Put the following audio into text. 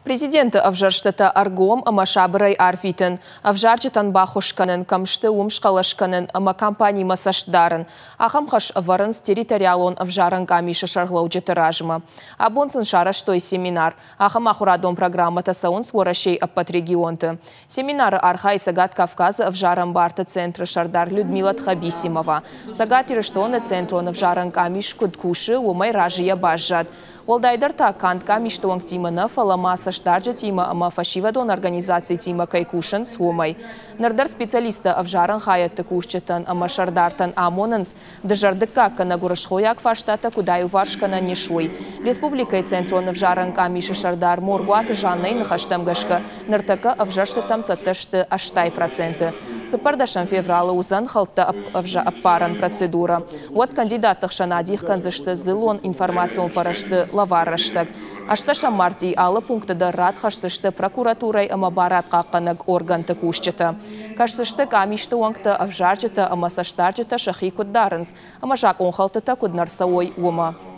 Президенты ӕвзӕрстытӕ ӕргом ӕмӕ сабырӕй арвитын, ӕвзарджытӕн баххуыс кӕнын, кӕм сты, уым схъӕлӕс кӕнын ӕмӕ кампанимӕ цӕст дарын. Ахӕм хӕс ӕвӕрынц территориалон ӕвзарӕн къамисы сӕргълӕуджыты размӕ. Абон сын сарӕзтой семинар. Ахӕм ахуырадон программӕтӕ цӕуынц Уӕрӕсейы ӕппӕт регионты. Семинары архайы Цӕгат Кавказы ӕвзарӕн барты центры сӕрдар Людмила Тхабисимова. Цӕгат Ирыстоны центрон ӕвзарӕн къамис куыд кусы, уымӕй разыйӕ баззад. Уӕлдайдӕр та канд къамисты уӕнгтимӕ нӕ, фӕлӕ ма цӕстдарджытимӕ ӕмӕ фӕсивӕдон организацитимӕ кӕй кусынц, уымӕй. Ныр дӕр специалисттӕ ӕвзарӕн хайӕдты кусджытӕн ӕмӕ сӕрдартӕн амонынц, дызӕрдыггаг кӕнӕ гуырысхойаг фарстатӕ куыд аиуварс кӕнӕн ис, уый. Республикӕйы центрон ӕвзарӕн къамисы сӕрдар Моргуаты Жаннӕйы ныхӕстӕм гӕсгӕ, ныртӕккӕ ӕвзӕрстытӕм цӕттӕ сты 80%. 14 февралы уыдзӕн хӕлттӕ ӕппарӕн процедурӕ. Уӕд кандидатты хсӕн адих кӕндзысты дзыллон информацион фӕрӕзты лӕвар рӕстӕг. Ӕстдӕсӕм мартъийы алы пункты дӕр рад хӕсдзысты прокуратурӕйы ӕмӕ барадхъахъхъӕнӕг органты кусджытӕ. Кӕсдзысты къамисты уӕнгтӕ, ӕвзарджытӕ ӕмӕ цӕстдарджытӕ сӕхи куыд дарынц ӕмӕ закъонхӕлдтытӕ куыд нӕ рцӕуой, уымӕ.